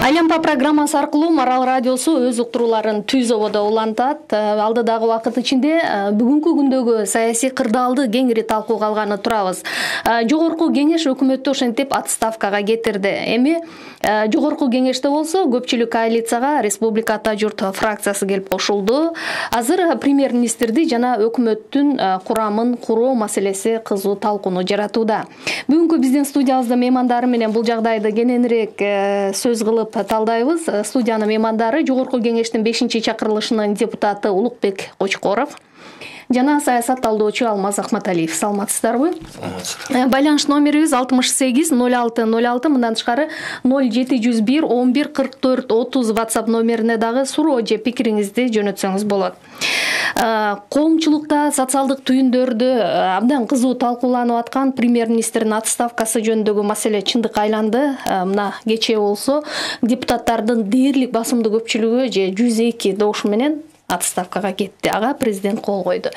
Айлампа программасы аркылуу Марал радиосу өз уктурууларын түз ободо улантат. Алдыдагы убакыт ичинде бүгүнкү күндөгү саясий кырдаалды кеңири талкууга алганы турабыз. Жогорку кеңеш өкмөттү ошентип отставкага кетирди. Эми жогорку кеңеште болсо көпчүлүк коалицияга Республика Ата журт фракциясы келип кошулду. Азыр премьер-министрди жана өкмөттүн курамын куруу маселеси кызуу талкууну жаратууда. Бүгүнкү биздин студиябызда меймандары менен бул жагдайды кененирээк сөз кылып талдайбыз. Студиянын меймандары жогорку кеңештин 5-чакырылышынын депутаты Улукбек Кочкоров жана саясат талдоочу Алмаз Ахматалиев. Саламатсыздарбы? Байланыш номерибиз 68 06 06, мындан тышкары 0701 11 44 30 WhatsApp номерине дагы суроо же пикириңизди жөнөтсөңүз болот. Коомчулукта социалдык түйүндөрдө абдан кызуу талкууланып аткан премьер-министрдин отставкасы жөнүндөгү маселе чындыкка айланды. Мына кечээ болсо депутаттардын дээрлик басымдуу көпчүлүгү же 102 добуш менен отставкага кетти. Ага президент кол койду.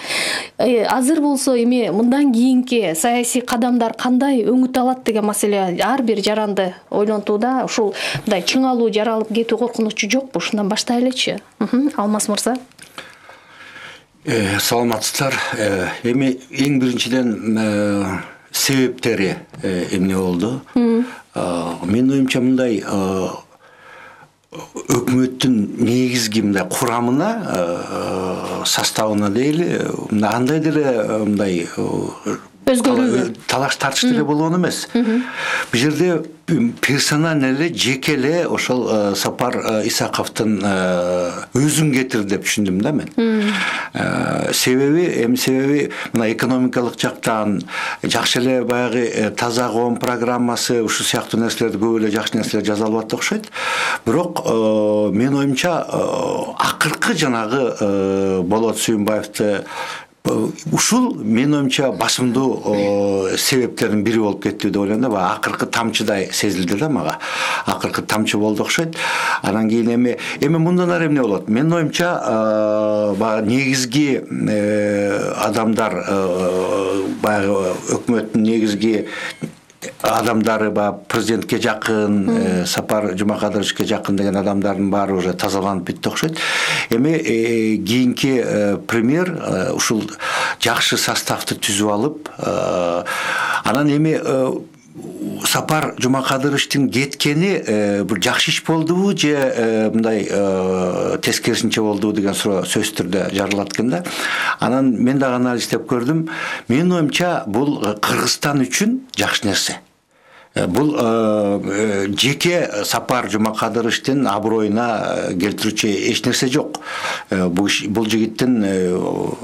Азыр болсо эми мындан кийинки саясий кадамдар кандай өңүт алат деген маселе ар бир жаранды ойлонтууда. Ушул мындай чыңалуу жаралып кетүү коркунучу жокпу? Ушундан баштайлычы. Алмаз мырза. Саламатсыздар. Эми эң биринчиден себептери эмне болду? Менин оюмча мындай өкмөттүн негизги мындай курамына, составына дейли, андайдыр мындай өзгөрүү талаш тартыш деле болгон эмес. Бул жерде персонально эле жеке эле ошол Сапар Исаковдун өзүн кетирди деп түшүндүм да мен. Себеби мына экономикалык жактан жакшы эле баягы таза коом программасы ушул сыяктуу нерселерди көп эле жакшы нерселер жазалып атты окшойт. Бирок менин оюмча акыркы жанагы Болот Сүйүнбаевди ушул менин оюмча басымдуу себептердин бири болуп кетти деп ойлойм да. Акыркы тамчыдай сезилди да мага. Акыркы тамчы болду окшойт. Анан кийин эми мындан ары эмне болот? Менин оюмча баягы негизги адамдар баягы өкмөттүн негизги адамдары президентке жакын, Сапар Жумакадыровичке жакын деген адамдардын баары уже тазаланып битти окшойт. Эми кийинки премьер ушул жакшы составды түзүп алып, анан эми Сапар Жумакадыровичтин кеткени бир жакшы иш болдубу же мындай тескерисинче болдубу деген суроо сөзсүз түрдө жаралат экен да. Анан мен дагы анализдеп көрдүм. Менин оюмча бул Кыргызстан үчүн жакшы нерсе. Бул жеке Сапар Жумакадыровичтин аброюна келтирүүчү эч нерсе жок. Бул жигиттин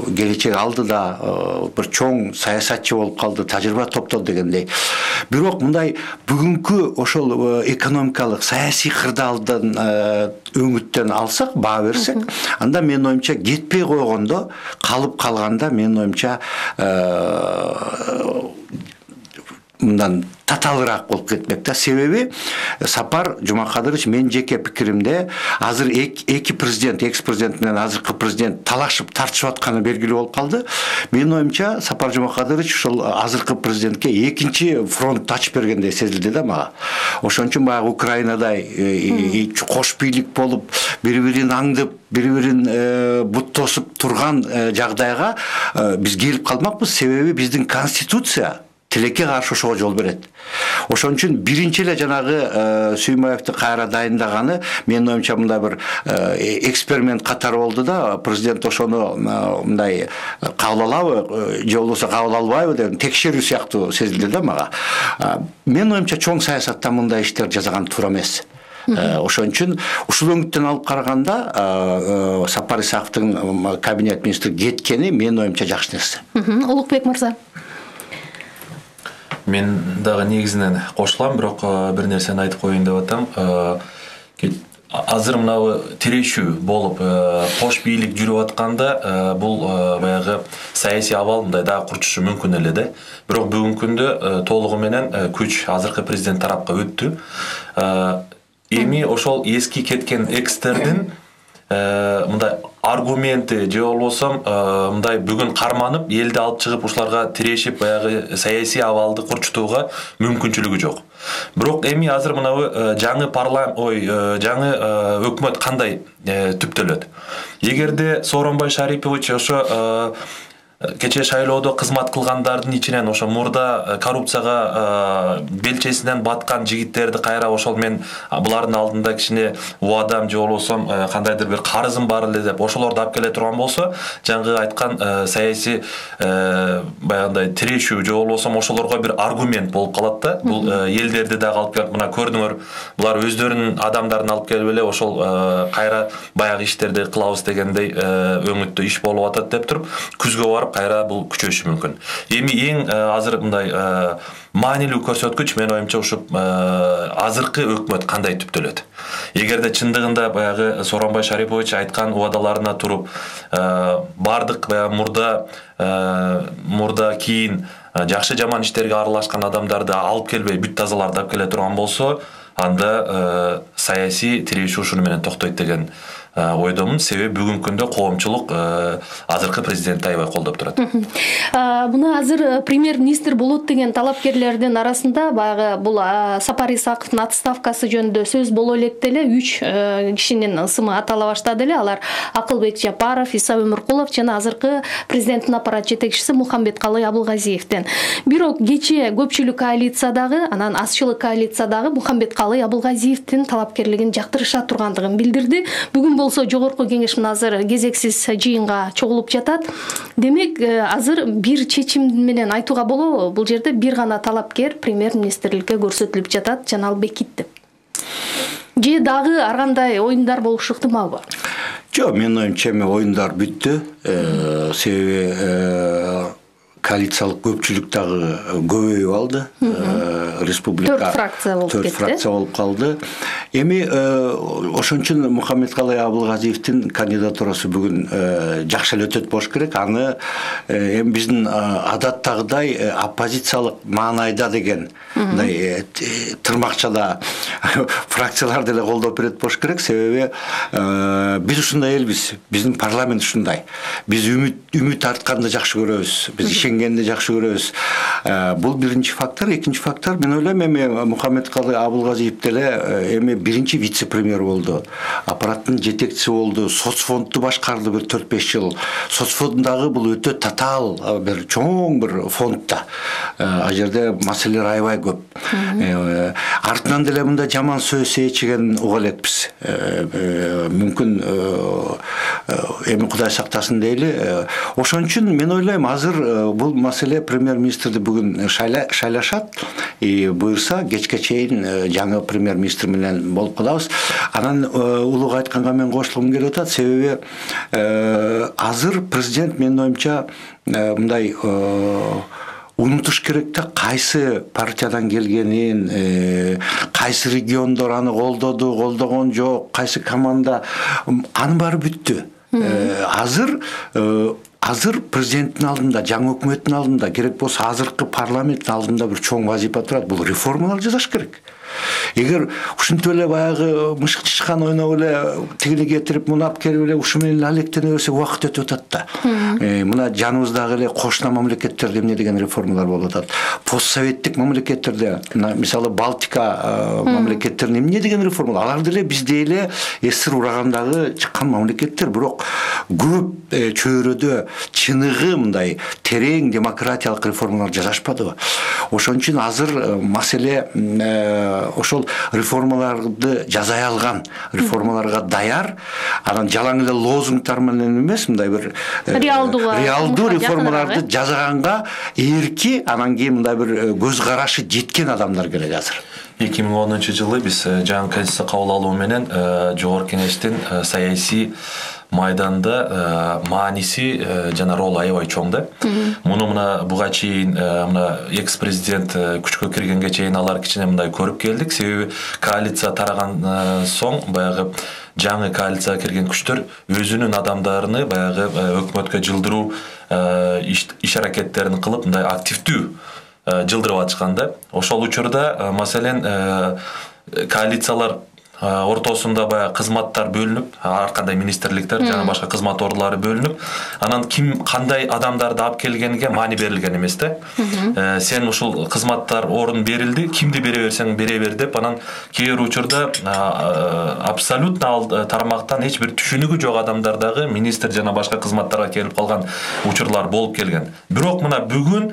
келечеги алдыда бир чоң саясатчы болуп калды, тажрыйба топтоду дегендей. Бирок мындай бүгүнкү ошол экономикалык саясий кырдаалдан өңүттөн алсак, баа берсек, анда менин оюмча кетпей койгондо, калып калганда менин оюмча мындан таталыраак болуп кетмек да. Себеби Сапар Жумакадырович менин жеке пикиримде азыр эки президент, экс-президент менен азыркы президент талашып тартышып атканы белгилүү болуп калды. Менин оюмча Сапар Жумакадырович ушул азыркы президентке экинчи фронт ачып бергендей сезилди да мага. Ошон үчүн баягы Украинадай кош бийлик болуп, бири-бирин аңдып, бири-бирин бут тосуп турган жагдайга биз келип калмакпыз. Себеби биздин конституция тилекке каршы ошого жол берет. Ошон үчүн биринчи эле жанагы Сүйүнбаевди кайра дайындаганы менин оюмча мындай бир эксперимент катары болду да. Президент ошону мындай кабыл алабы же болбосо кабыл албайбы деп текшерүү сыяктуу сезилди да мага. Менин оюмча чоң саясатта мындай иштер жасаган туура эмес. Ошон үчүн ушул өңүттөн алып караганда Сапар Исаковдун кабинет министри кеткени менин оюмча жакшы нерсе. Улукбек мырза. Мен дагы негизинен кошулам, бирок бир нерсени айтып коеюн деп атам. Азыр мынабы тирешүү болуп, кош бийлик жүрүп атканда, бул баягы саясий абал мындай дагы курчушу мүмкүн эле да. Бирок бүгүнкү күндө толугу менен күч азыркы президент тарапка өттү. Эми ошол эски кеткен экстердин мындай аргументи же болбосо мындай бүгүн карманып элди алып чыгып ушуларга тирешип баягы саясий абалды курчутууга мүмкүнчүлүгү жок. Бирок эми азыр мынабы жаңы жаңы өкмөт кандай түптөлөт? Эгерде Сооронбай Шарипович ошо кече шайлоодо кызмат кылгандардын ичинен ошо мурда коррупцияга белчесинен баткан жигиттерди кайра ошол мен булардын алдында кичине убадам же болбосо кандайдыр бир карызым бар эле деп ошолорду алып келе турган болсо, жаңы айткан саясий баягындай тирешүү же болбосо ошолорго бир аргумент болуп калат да. Бул элдерди дагы алып келип, мына көрдүңөр, булар өздөрүнүн адамдарын алып келип эле ошол кайра баягы иштерди кылабыз дегендей өңүттө иш болуп атат деп туруп, күзгө барып кайра бул күчөшү мүмкүн. Эми эң азыр мындай маанилүү көрсөткүч мен оюмча ушу азыркы өкмөт кандай түптөлөт. Эгерде чындыгында баягы Сооронбай Шарипович айткан убадаларына туруп, бардык баягы мурда кийин жакшы жаман иштерге аралашкан адамдарды алып келбей, бүт тазаларды алып келе турган болсо, анда саясий тирешүү ушуну менен токтойт деген ойдомун. Себеби бүгүнкү күндө коомчулук азыркы президентти аябай колдоп турат. Муну азыр премьер-министр болот деген талапкерлердин арасында баягы бул Сапар Исаковдун отставкасы жөнүндө сөз боло электе эле 3 кишинин ысымы атала баштады эле. Алар Акылбек Жапаров, Иса Өмүркулов жана азыркы президенттин аппарат жетекчиси Мухамбеткалый Абылгазиевден. Бирок кечээ көпчүлүк коалициядагы, анан азчылык коалициядагы Мухамбеткалый Абылгазиевдин талапкерлигин жактырыша тургандыгын билдирди. Бүгүн болсо жогорку кеңеш азыр кезексиз жыйынга чогулуп жатат. Демек, азыр бир чечим менен айтууга болобу, бул жерде бир гана талапкер премьер-министрликке көрсөтүлүп жатат, Жанал Бекит деп. Же дагы ар кандай оюндар болушу ыктымалбы? Жок, менин оюмча оюндар бүттү. Себеби коалициялык көпчүлүк дагы көбөйүп алды. Республика 4 фракция болуп кетти. 4 фракция болуп калды. Эми ошон үчүн Мухамбеткалый Абылгазиевдин кандидатурасы бүгүн жакшы эле өтөт болуш керек. Аны эми биздин адаттагыдай оппозициялык маанайда деген мындай тырмакчада фракциялар деле колдоп берет болуш керек. Себеби биз ушундай элбиз. Биздин парламент ушундай. Биз үмүт артканды жакшы көрөбүз. Биз ишенгенди жакшы көрөбүз. Бул биринчи фактор. Экинчи фактор, мен ойлойм, эми Мухамбеткалый Абылгазиев деле эми биринчи вице-премьер болду. Аппараттын жетекчиси болду. Соцфондду башкарды бир 4-5 жыл. Соцфонддагы бул өтө татаал бир чоң бир фондда. Ал жерде маселелер аябай көп. Артынан деле мындай жаман сөз ээчиген уга элекпиз. Мүмкүн эми Кудай сактасын дейли. Ошон үчүн мен ойлойм, азыр бул маселе премьер-министрди бүгүн шайлашат. Буюрса кечке чейин жаңы премьер-министр менен болуп калабыз. Анан улуг айтканга мен кошулгум келип атат. Себеби азыр президент менин оюмча мындай унутуш керек да, кайсы партиядан келгенин, кайсы региондор аны колдогон жок, кайсы команда, анын баары бүттү. Азыр президенттин алдында, жаңы өкмөттүн алдында, керек болсо азыркы парламенттин алдында бир чоң вазифа турат. Бул реформалар жасаш керек. Эгер ушинтип эле баягы мышык чычкан ойноп эле тигини кетирип, муну алып келип эле ушу менен алектене берсе убакыт өтүп атат да. Мына жаныбыздагы эле кошуна мамлекеттерде эмне деген реформалар болуп атат. Постсоветтик мамлекеттерде, мисалы Балтика мамлекеттеринде эмне деген реформалар. Алар деле бизде эле СССР урагандагы чыккан мамлекеттер, бирок көп чөйрөдө чыныгы мындай терең демократиялык реформалар жасашпадыбы. Ошон үчүн азыр маселе ошол реформаларды жасай алган, реформаларга даяр, анан жалаң эле лозунгтар менен эмес, мындай бир реалдуу реформаларды жасаганга эрки, анан кийин мындай бир көз карашы жеткен адамдар керек азыр. 2010-жылы биз жаңы конституция кабыл алуу менен жогорку кеңештин саясий майданда мааниси жана ролу аябай чоң да. Муну мына буга чейин мына экс-президент күчкө киргенге чейин алар кичине мындай көрүп келдик. Себеби коалиция тараган соң баягы жаңы коалицияга кирген күчтөр өзүнүн адамдарын баягы өкмөткө жылдыруу иш аракеттерин кылып мындай активдүү жылдырып атышкан да. Ошол учурда маселен коалициялар ортосунда баягы кызматтар бөлүнүп, ар кандай министрликтер жана башка кызмат ордулары бөлүнүп, анан ким кандай адамдарды алып келгениге маани берилген эмес да. Сен ушул кызматтар орун берилди, кимди бере берсең бере бер деп, анан кээ бир учурда абсолютно ал тармактан эч бир түшүнүгү жок адамдар дагы министр жана башка кызматтарга келип калган учурлар болуп келген. Бирок мына бүгүн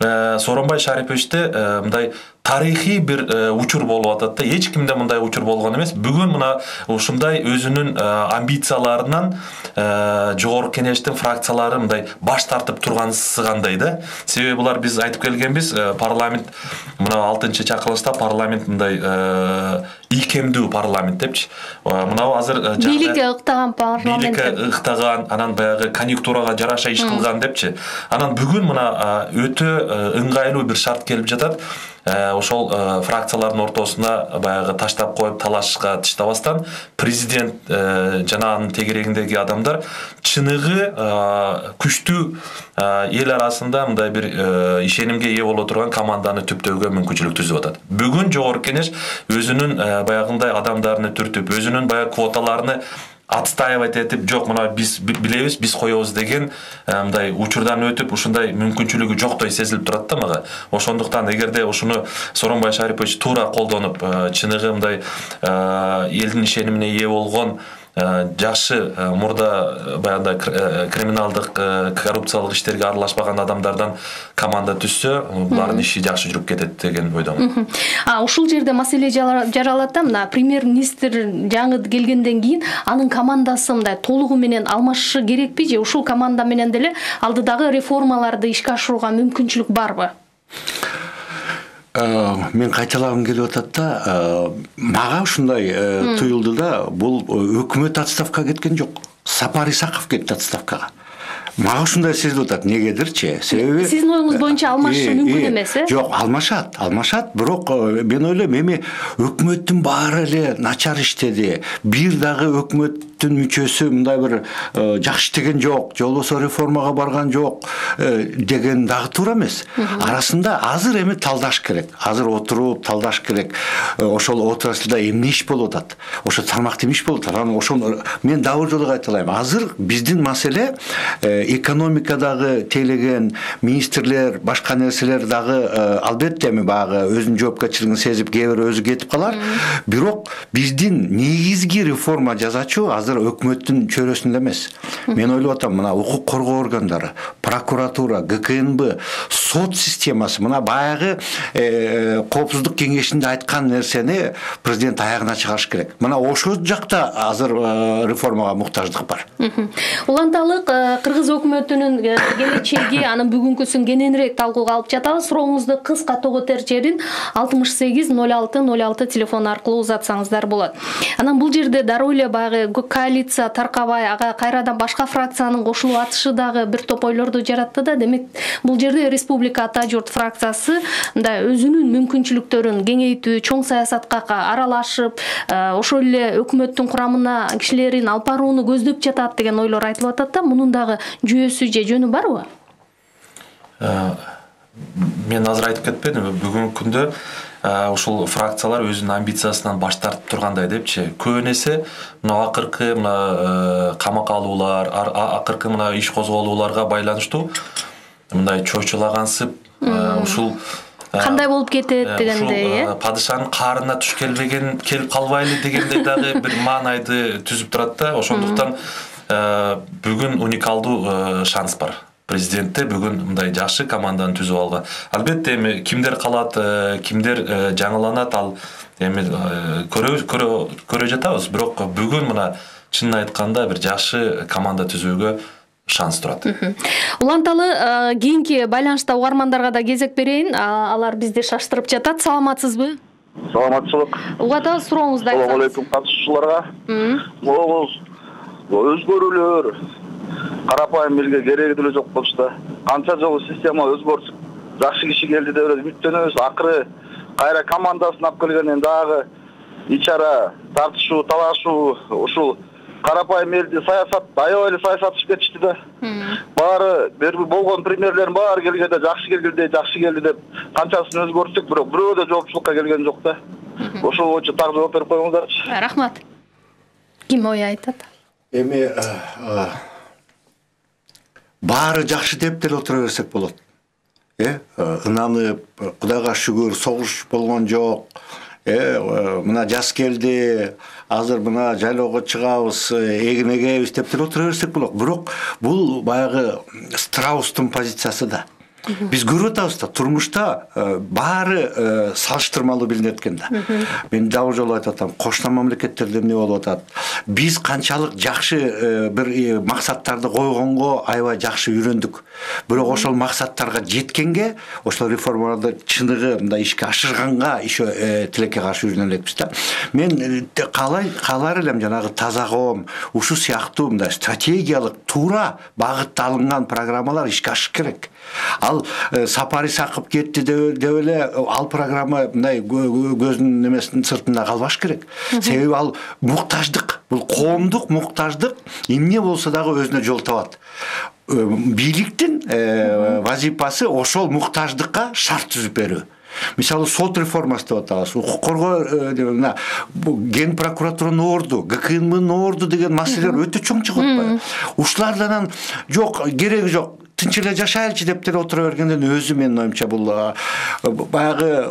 Сооронбай Шариповичте мындай тарыхый бир учур болуп атат да. Эч кимде мындай учур болгон эмес. Бүгүн мына ушундай өзүнүн амбицияларынан жогорку кеңештин фракциялары мындай баш тартып тургансыгандай да. Себеби булар биз айтып келгенбиз, парламент мына 6-чакырылышта парламент мындай ийкемдүү парламент депчи. Мына азыр бийликке ыктаган парламент. Бийликке ыктаган, анан баягы конъюнктурага жараша иш кылган депчи. Анан бүгүн мына өтө ыңгайлуу бир шарт келип жатат. Ошол фракциялардын ортосуна баягы таштап коюп талашка тыштабастан президент жана анын тегерегиндеги адамдар чыныгы күчтүү эл арасында мындай бир ишенимге ээ боло турган команданы түптөөгө мүмкүнчүлүк түзүп атат. Бүгүн жогорку кеңеш өзүнүн баягындай адамдарын түртүп, өзүнүн баягы квоталарын отстаивать этип, жок мына биз билебиз, биз коебуз деген мындай учурдан өтүп, ушундай мүмкүнчүлүгү жоктой сезилип турат да мага. Ошондуктан эгерде ушуну Сооронбай Шарипович туура колдонуп, чыныгы мындай элдин ишенимине ээ болгон жакшы мурда баягындай криминалдык коррупциялык иштерге аралашпаган адамдардан команда түзсө, булардын иши жакшы жүрүп кетет деген ойдомун. Ушул жерде маселе жаралат да, мына премьер-министр жаңы келгенден кийин анын командасы мындай толугу менен алмашышы керекпи же ушул команда менен деле алдыдагы реформаларды ишке ашырууга мүмкүнчүлүк барбы? Мен кайталагым келип атат да, мага ушундай туюлду да, бул өкмөт отставкага кеткен жок. Сапар Исаков кетти отставкага. Мага ушундай сезилип атат, негедирчи? Себеби сиздин оюңуз боюнча алмашышы мүмкүн эмес, Жок, алмашат, бирок мен ойлойм, эми өкмөттүн баары эле начар иштеди. Бир дагы өкмөттүн мүчөсү мындай бир жакшы иштеген жок, же болбосо реформага барган жок деген дагы туура эмес. Арасында азыр эми талдаш керек. Азыр отуруп талдаш керек. Ошол отраслда эмне иш болуп атат? Ошо тармакта иш болуп атат. Анан ошону мен дагы жолу кайталайм. Азыр биздин маселе экономикадагы тейлеген министрлер, башка нерселер дагы албетте эми багы өзүнүн жоопкерчилигин сезип, кээ бир өзү кетип калар. Бирок биздин негизги реформа жасачу азыр өкмөттүн чөйрөсүндө эмес. Мен ойлоп атам, мына укук коргоо органдары, прокуратура, ГКНБ, сот системасы, мына баягы коопсуздук кеңешинде айткан нерсени президент аягына чыгарыш керек. Мына ошол жакта азыр реформага муктаждык бар. Уланталык кыргыз өкмөтүнүн келечеги, анын бүгүнкүсүн кененирээк талкууга алып жатабыз. Сурооңузду кыска тоготер жерин 680606 телефон аркылуу узатсаңыздар болот. Анан бул жерде дароо эле баягы коалиция таркабай, ага кайрадан башка фракциянын кошулуп атышы дагы бир топ ойлорду жаратты да. Демек, бул жерде Республика Ата журт фракциясы мындай өзүнүн мүмкүнчүлүктөрүн кеңейтүү, чоң саясатка аралашып, ошол эле өкмөттүн курамына кишилерин алып барууну көздөп жатат деген ойлор айтылып атат да. Мунун дагы жүйөсү же жөнү барбы? Мен азыр айтып кетпедимби, бүгүнкү күндө ушул фракциялар өзүнүн амбициясынан баш тартып тургандай депчи. Көбүнесе мына акыркы камакка алуулар, акыркы мына иш козголууларга байланыштуу мындай чочулагансып, ушул кандай болуп кетет дегендей, падышанын каарына туш келип калбайлы дегендей дагы бир маанайды түзүп турат да. Ошондуктан бүгүн уникалдуу шанс бар. Президентте бүгүн мындай жакшы команданы түзүп алган. Албетте эми кимдер калат, кимдер жаңыланат, ал эми көрө жатабыз. Бирок бүгүн мына чынын айтканда бир жакшы команда түзүүгө шанс турат. Уланталы кийинки байланышта угармандарга да кезек берейин. Алар бизди шаштырып жатат. Саламатсызбы? Саламатчылык. Угатабыз, сурооңузду айтсаңыз. Assalamu alaykum катышуучуларга. Могул өзгөрүүлөр карапайым элге кереги деле жок болчу. Канча жолу система өзгөрүп, жакшы киши келди деп үмүттөнөбүз. Акыры кайра командасын алып келгенден дагы ичара тартышуу, талашуу, ушул карапайым элди саясат, аябай эле саясатчып кетишти да. Баары болгон премьерлердин баары келгенде жакшы келди деп канчасын өзгөртүк, бирок бирөө да жоопчулукка келген жок да. Ошол боюнча так жооп берип коюңуздарчы. Рахмат. Ким ой айтат? Эми баары жакшы деп деле отура берсек болот. Ынанып, Кудайга шүгүр, согуш болгон жок. Мына жаз келди, азыр мына жайлоого чыгабыз, эгин эгебиз деп деле отура берсек болот. Бирок бул баягы страустун позициясы да. Биз көрүп атабыз да, турмушта баары салыштырмалуу билинет экен да. Мен дагы жолу айтып атам, кошуна мамлекеттерде эмне болуп атат? Биз канчалык жакшы бир максаттарды койгонго аябай жакшы үйрөндүк. Бирок ошол максаттарга жеткенге, ошол реформаларды чыныгы мындай ишке ашырганга еще тилекке каршы үйрөнө элекпиз да. Мен каалар элем жанагы таза коом, ушул сыяктуу мындай стратегиялык туура багытта алынган программалар ишке ашыш керек. Ал Сапар Исаков кетти деп эле ал программа мындай көздүн немесинин сыртында калбаш керек. Себеби ал муктаждык, бул коомдук муктаждык эмне болсо дагы өзүнө жол табат. Бийликтин вазифасы ошол муктаждыкка шарт түзүп берүү. Мисалы сот реформасы деп атабыз, укук коргоо ген прокуратуранын орду, ГКНМнын орду деген маселелер өтө чоң чыгып атпайбы? Ушулардан жок, кереги жок. Тынч эле жашайлычы деп деле отура бергенден өзү менин оюмча бул баягы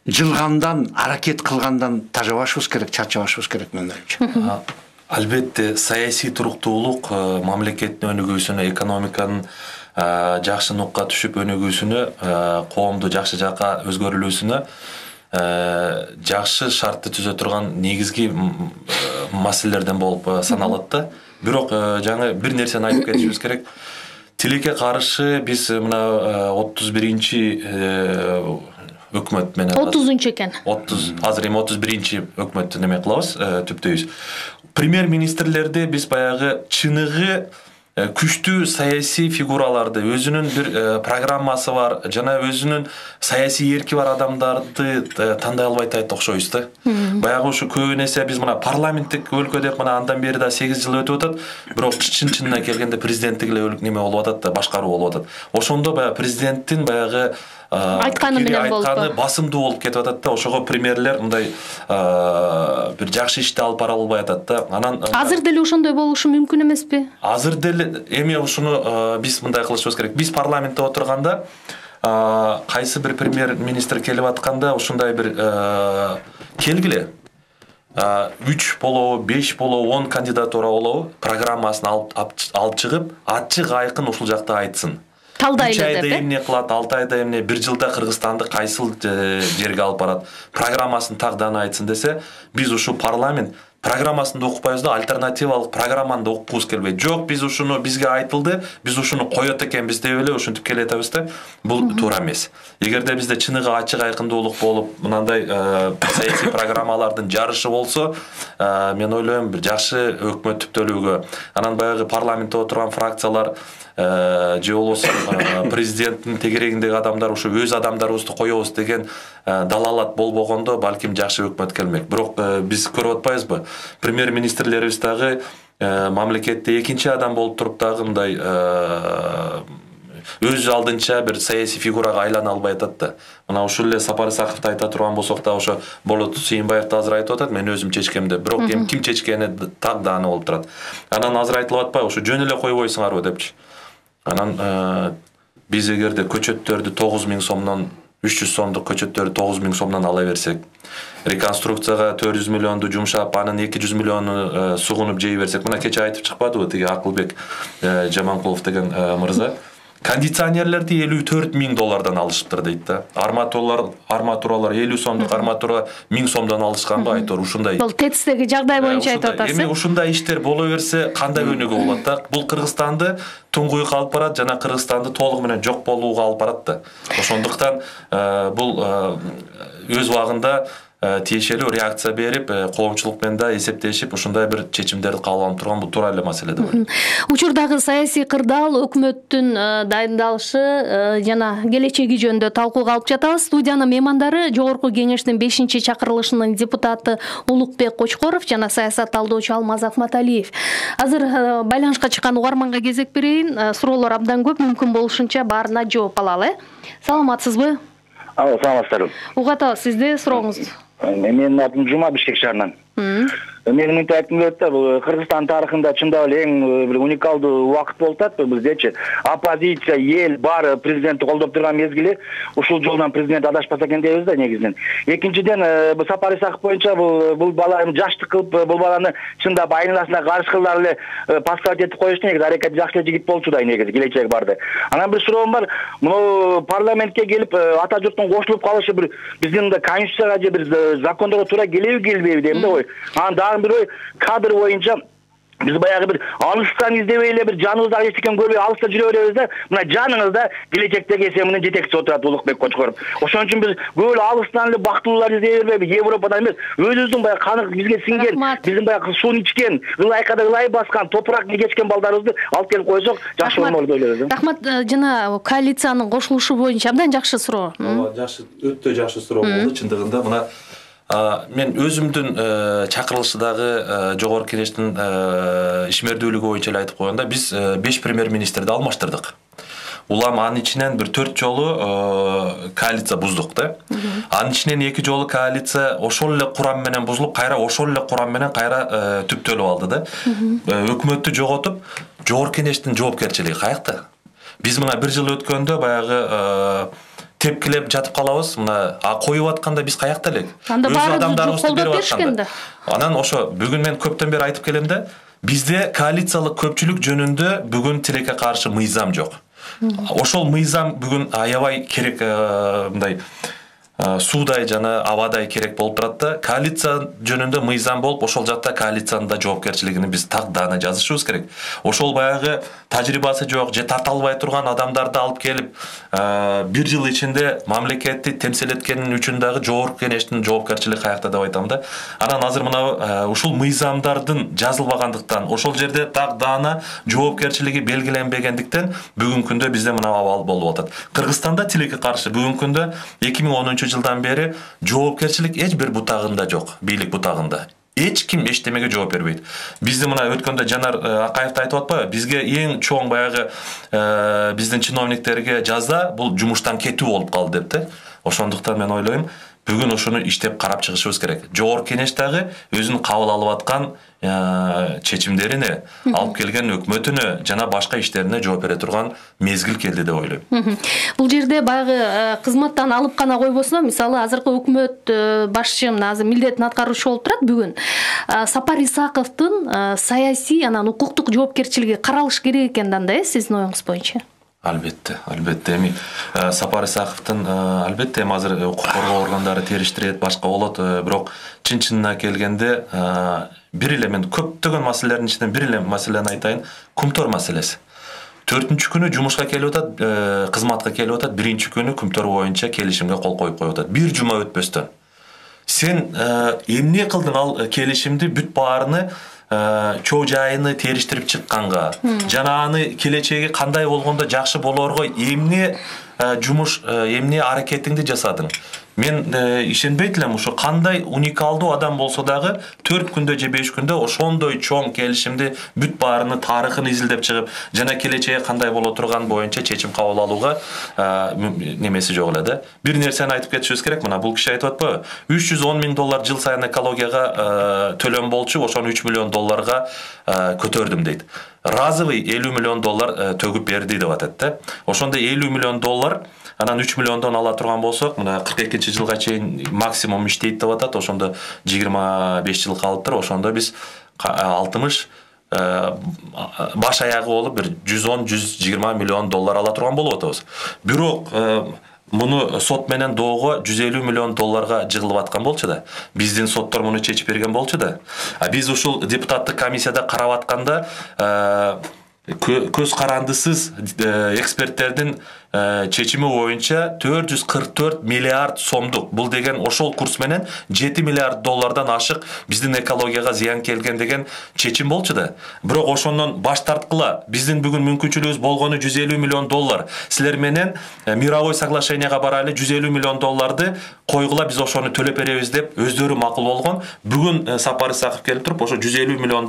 жылгандан, аракет кылгандан тажабашыбыз керек, чарчабашыбыз керек менин оюмча. Албетте саясий туруктуулук мамлекеттин өнүгүүсүнө, экономиканын жакшы нукка түшүп өнүгүүсүнө, коомду жакшы жакка өзгөрүлүүсүнө жакшы шартты түзө турган негизги маселелерден болуп саналат да. Бирок жаңы бир нерсени айтып кетишибиз керек. Тилекке каршы биз мына 31-чи өкмөт менен 30-чу экен. 30 азыр эми 31-чи өкмөттү неме кылабыз, түптөйбүз. Премьер-министрлерди биз баягы чыныгы күчтүү саясий фигураларды, өзүнүн бир программасы бар, жана өзүнүн саясий эрки бар адамдарды тандай албай атат окшойбуз да. Баягы ушу көбүн эсе биз мына парламенттик өлкө деп мына андан бери да 8 жыл өтүп атат, бирок чын-чынына келгенде президенттик эле неме болуп атат да, башкаруу болуп атат. Ошондо баягы президенттин баягы айтканы менен болуп басымдуу болуп кетип атат да. Ошого премьерлер мындай бир жакшы ишти алып бара албай атат да. Анан азыр деле ошондой болушу мүмкүн эмеспи? Азыр деле эми ушуну биз мындай кылышыбыз керек. Биз парламентте отурганда кайсы бир премьер-министр келип атканда ушундай бир келгиле 3 болобу, 5 болобу, 10 кандидатура болобу, программасын алып чыгып, ачык айкын ушул жакта айтсын. Талдайлы деп. 3 айда эмне кылат, 6 айда эмне, 1 жылда Кыргызстанды кайсыл жерге алып барат, программасын тагданы айтсын десе, биз ушу парламент программасын да окупайбыз да, альтернативалык программаны да окугубуз келбейт. Жок, биз ушуну бизге айтылды, биз ушуну коет экенбиз деп эле ушинтип келетебиз да. Бул туура эмес. Эгерде бизде чыныгы ачык айкындуулук болуп, мындай саясий программалардын жарышы болсо, мен ойлойм бир жакшы өкмөт түптөлүүгө, анан баягы парламентте отурган фракциялар же болбосо президенттин тегерегиндеги адамдар ушу өз адамдарыбызды коебуз деген далалат болбогондо балким жакшы өкмөт келмек. Бирок биз көрүп атпайбызбы? Премьер-министрлерибиз дагы мамлекетте экинчи адам болуп туруп дагы мындай өз алдынча бир саясий фигурага айлана албай атат да. Мына ушул эле Сапар Исаковду айта турган болсок да, ошо Болот Сүйүнбаевди азыр айтып атат, мен өзүм чечкем деп. Бирок эми ким чечкени так дааны болуп турат. Анан азыр айтылып атпайбы, ушу жөн эле койбойсуңарбы депчи. Анан биз эгерде көчөттөрдү 9000 сомдон 300 сомдук көчөттөрдү 9000 сомдон ала берсек, реконструкцияга 400 миллионду жумшап, анын 200 миллиону сугунуп жей берсек, мына кече айтып чыкпадыбы тиги Акылбек Жаманкулов деген мырза, кондиционерлерди 54 000 доллардан алышыптыр дейт да. Арматуралар 50 сомдук арматура 1000 сомдон алышканбы айтор ушундай. Бул ТЭЦтеги жагдай боюнча айтып атасыз. Эми ушундай иштер боло берсе кандай өнүгүү болот да? Бул Кыргызстанды туңгуйукка алып барат жана Кыргызстанды толугу менен жок болууга алып барат да. Ошондуктан бул өз убагында тиешелүү реакция берип, коомчулук менен да эсептешип, ушундай бир чечимдерди кабыл алып турган бул туура эле маселе деп ойлойм. Учурдагы саясий кырдаал өкмөттүн дайындалышы жана келечеги жөнүндө талкууга алып жатабыз. Студиянын меймандары Жогорку Кеңештин 5-чакырылышынын депутаты Улукбек Кочкоров жана саясат талдоочу Алмаз Акматалиев. Азыр байланышка чыккан угарманга кезек берейин. Суроолор абдан көп, мүмкүн болушунча баарына жооп алалы. Саламатсызбы? Алло, саламатсыздарбы. Угат ага, сизде сурооңуз. Менин атым Жума, Бишкек шаарынан. Менин мынтип айткым келет да, бул Кыргызстан тарыхында чындап эле эң бир уникалдуу убакыт болуп атат. Биздечи оппозиция, эл баары президентти колдоп турган мезгили, ушул жолдон президент адашпаса экен дейбиз да негизинен. Экинчиден, бул Сапар Исаков боюнча бул бала жаштык кылып, бул баланы чындап айналасына каршы кылар эле поставить этип коюшту. Негизи аракети жакшы эле жигит болчу да, негизи келечеги барды. Анан бир суроом бар. Муну парламентке келип ата журттун кошулуп калышы бир биздин да конституцияга же бир закондорго туура келеби келбейби дейм да ой. Анан дагы бир ой, кадр боюнча биз баягы бир алыстан издебей эле бир жаныбызда эч экен көрбөй алыста жүрө беребиз да. Мына жаныңызда келечектеги СМнин жетекчиси отурат Улукбек Кочкоров. Ошон үчүн биз көп эле алыстан эле бактылуулар издей бербейбиз, Европадан эмес, өзүбүздүн баягы каны бизге сиңген, биздин баягы суун ичкен, ылайкада ылай баскан, топуракты кечкен балдарыбызды алып келип койсок жакшы болмок деп ойлойбуз. Рахмат. Жана коалициянын кошулушу боюнча абдан жакшы суроо. Жакшы, өтө жакшы суроо болду чындыгында. Мына мен өзүмдүн чакырылышыдагы жогорку кеңештин ишмердүүлүгү боюнча эле айтып койгондо, биз 5 премьер-министрди алмаштырдык. Улам анын ичинен бир 4 жолу коалиция буздук да. Анын ичинен 2 жолу коалиция ошол эле курам менен бузулуп, кайра ошол эле курам менен кайра түптөлүп алды да. Өкмөттү жоготуп, жогорку кеңештин жоопкерчилиги каякта? Биз мына 1 жыл өткөндө баягы тепкилеп жатып калабыз. Мына коюп атканда биз каякта элек? Өз адамдарыбызды берип атканда. Анан ошо бүгүн мен көптөн бери айтып келем да, бизде коалициялык көпчүлүк жөнүндө бүгүн тилекке каршы мыйзам жок. Ошол мыйзам бүгүн аябай керек, мындай суудай жана абадай керек болуп турат да. Коалиция жөнүндө мыйзам болуп, ошол жакта коалициянын да жоопкерчилигин биз так даана жазышыбыз керек. Ошол баягы тажрыйбасы жок же тарта албай турган адамдарды алып келип, 1 жыл ичинде мамлекетти темсил эткени үчүн дагы жогорку кеңештин жоопкерчилиги каякта деп айтам да. Анан азыр мына ушул мыйзамдардын жазылбагандыктан, ошол жерде так даана жоопкерчилиги белгиленбегендиктен бүгүнкү күндө бизде мына абал болуп атат. Кыргызстанда тилекке каршы бүгүнкү күндө 2010-жылдан бери жоопкерчилик эч бир бутагында жок, бийлик бутагында. Эч ким эчтемеге жооп бербейт. Бизде мына өткөндө Жанар Акаев айтып атпайбы? Бизге эң чоң баягы биздин чиновниктерге жаза бул жумуштан кетүү болуп калды деп да. Ошондуктан мен ойлойм, бүгүн ошону иштеп карап чыгышыбыз керек. Жогорку кеңеш дагы өзүнүн кабыл алып аткан чечимдерине, алып келген өкмөтүнө жана башка иштерине жооп бере турган мезгил келди деп ойлойм. Бул жерде баягы кызматтан алып гана койбосо, мисалы азыркы өкмөт башчы азыр милдетин аткаруучу болуп турат бүгүн. Сапар Исаковдун саясий анан укуктук жоопкерчилиги каралыш керек экен да, сиздин оюңуз боюнча? Албетте. Эми Сапар Исаковдун албетте азыр укук коргоо органдары териштирет, башка болот, бирок чын-чынына келгенде бир эле мен көптөгөн маселелердин ичинен бир эле маселени айтайын, Кумтор маселеси. 4-күнү жумушка келип атат, кызматка келип атат, 1-күнү Кумтор боюнча келишимге кол коюп коюп атат. 1 жума өтпөстөн. Сен эмне кылдың ал келишимди бүт баарыны чоо жайыны териштирип чыкканга, жана аны келечеги кандай болгондо жакшы болорго эмне жумуш, эмне аракетиңди жасадың? Мен ишенбейт элем, ошо кандай уникалдуу адам болсо дагы 4 күндө же 5 күндө ошондой чоң келишимди бүт баарыны тарыхын изилдеп чыгып, жана келечеги кандай боло турган боюнча чечим кабыл алууга немеси жок эле да. Бир нерсени айтып кетишибиз керек. Мына бул киши айтып атпайбы? $310 000 жыл сайын экологияга төлөм болчу, ошону $3 миллион көтөрдүм дейт. Разовый $50 миллион төгүп берди деп атат да. Ошондо $50 миллион, анан 3 миллиондон ала турган болсок, мына 42-жылга чейин максимум иштейт деп атат. Ошондо 25 жыл калыптыр. Ошондо биз 60 баш аягы болуп бир 110-120 миллион доллар ала турган болуп атабыз. Бирок муну сот менен доого $150 миллион жыгылып аткан болчу да. Биздин соттор муну чечип берген болчу да. Биз ушул депутаттык комиссияда карап атканда көз карандысыз эксперттердин чечими боюнча 444 миллиард сомдук, бул деген ошол курс менен $7 миллиард ашык биздин экологияга зыян келген деген чечим болчу да. Бирок ошондон баш тарткыла. Биздин бүгүн мүмкүнчүлүгүбүз болгону $150 миллион. Силер менен мировой соглашенияга барайлы $150 миллион койгула, биз ошону төлөп беребиз деп өздөрү макул болгон. Бүгүн Сапар Исаков келип туруп, ошо $150 миллион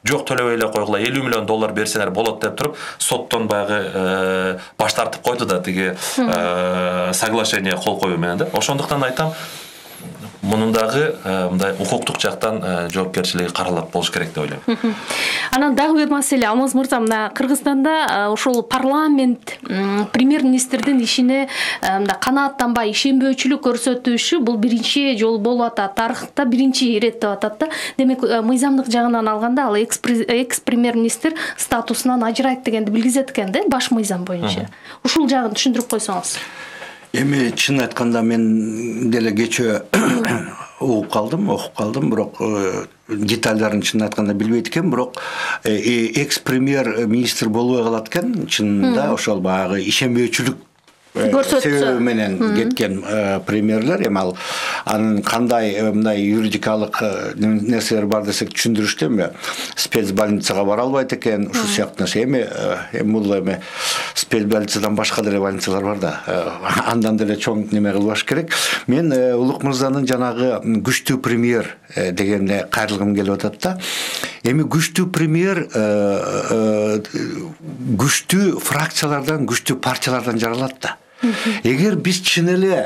жок төлөбөй эле койгула, $50 миллион берсеңер болот деп туруп, соттон баягы баш тартып айтып койду да тиги соглашение кол коюу менен да. Ошондуктан айтам, мунун дагы мындай укуктук жактан жоопкерчилиги каралат болуш керек деп ойлойм. Анан дагы бир маселе, Алмаз мырза, мына Кыргызстанда ошол парламент премьер-министрдин ишине мындай канааттанбай ишенбөөчүлүк көрсөтүшү бул биринчи жолу болуп атат, тарыхта биринчи ирет деп атат да. Демек мыйзамдык жагынан алганда ал экс премьер-министр статусунан ажырайт дегенди билгизет экен да, баш мыйзам боюнча. Ушул жагын түшүндүрүп койсоңуз. Эми чын айтканда мен деле кечээ окуп калдым, бирок детальдарын чын айтканда билбейт экен, бирок экс премьер министр болбой калат экен, чынында ошол баягы ишенбөөчүлүк себеби менен кеткен премьерлер. Эми ал анын кандай мындай юридикалык нерселер бар десек түшүндүрүштү, эми спецбольницага бара албайт экен, ушул сыяктуу нерсе. Эми бул спецбольницадан башка деле больницалар бар да, андан деле чоң неме кылбаш керек. Мен Улук мырзанын жанагы күчтүү премьер дегенде кайрылгым келип атат да. Эми күчтүү премьер күчтүү фракциялардан, күчтүү партиялардан жаралат да. Эгер биз чын эле